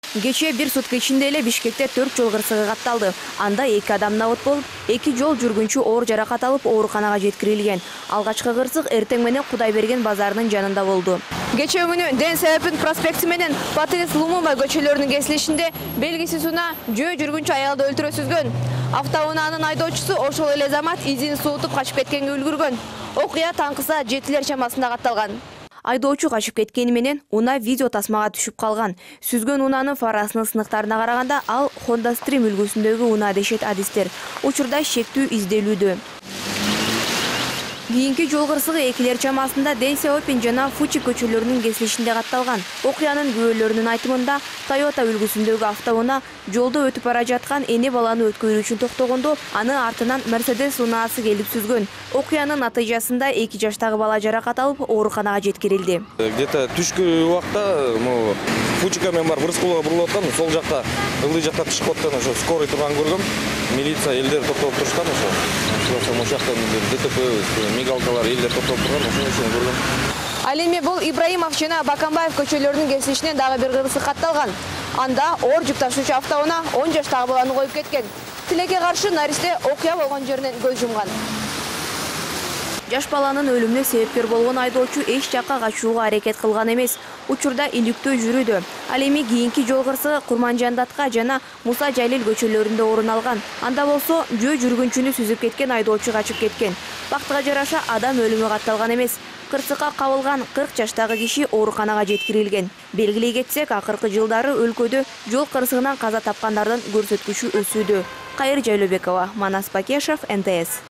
Кечээ бир сутка ичинде эле Бишкекте 4 жол кырсыгы катталды. Анда 2 адам набыт болуп, 2 жол жүргүнчү оор жаракат алып ооруканага жеткирилген. Алгачкы кырсык эртең менен Кудайберген базарынын жанында болду. Кечээ күнү Ден Саапин проспекти менен Батыс Лумумба көчөлөрүнүн кесилишинде белгисиз унаа жөө жүргүнчү аялды өлтүрө сүзгөн. Автоунаанын айдоочусу ошол эле замат изин суутуп качып кеткенге үлгүргөн. Окуя таңкыса 7 чамасында катталган. Айдоочу качып кеткени менен унаа видео тасмага түшүп калган. Сүзгөн унаанын фарасынын сынактарына караганда ал Honda Stream үлгүсүндөгү унаа дешет адистер. Учурда шектүү изделүүдө. Кийинки жол кырсыгы 2 чамасында Ден Саапин жана Фучи көчөлөрүнүн кесилишинде катталган. Окуянын күбөлөрүнүн айтымында Toyota үлгүсүндөгү автоунаа жолдо өтүп бара жаткан эне баланы өткөрүү үчүн токтогондо аны артынан Mercedes унаасы келип сүзгөн. Окуянын натыйжасында 2 жаштагы бала жаракат алып ооруканага жеткирилди. Где-то түшкү убакта Фучика менен барып Рыскулга бурулуп аткан, сол жакта ылдый жакта чыгып аткан, ошо скорый турган көргөм. Милиция элдер токтоп турушкан, ошо жакта ДТП мигалкалар элдер токтоп турган, ошон үчүн көргөм. Ал эми бул Ибраимов жана Бакамбаев көчөлөрүнүн кесилишинен дагы бир кырсык катталган. Анда оор жүк ташуучу автоунаа 10 жаштагы баланы коюп кеткен. Тилекке каршы наристе окуя болгон жеринен көз жумган. Жаш баланын өлүмүнө себепкер болгон айдоочу эч жакка качууга аракет кылган эмес. Учурда иликтөө жүрүүдө. Ал эми кийинки жол кырсыгы Курманжандатка жана Муса Жалил көчөлөрүндө орун алган. Анда болсо жөө жүргүнчүнү сүзүп кеткен айдоочу качып кеткен. Бактыга жараша адам өлүмү катталган эмес. Кырсыкка кабылган 40 жаштагы киши ооруканага жеткирилген. Белгилей кетсек, акыркы жылдары өлкөдө жол кырсыгынан каза тапкандардын көрсөткүчү өсүүдө. Кайыр Жайлообекова, Манас Бакешев, НТС.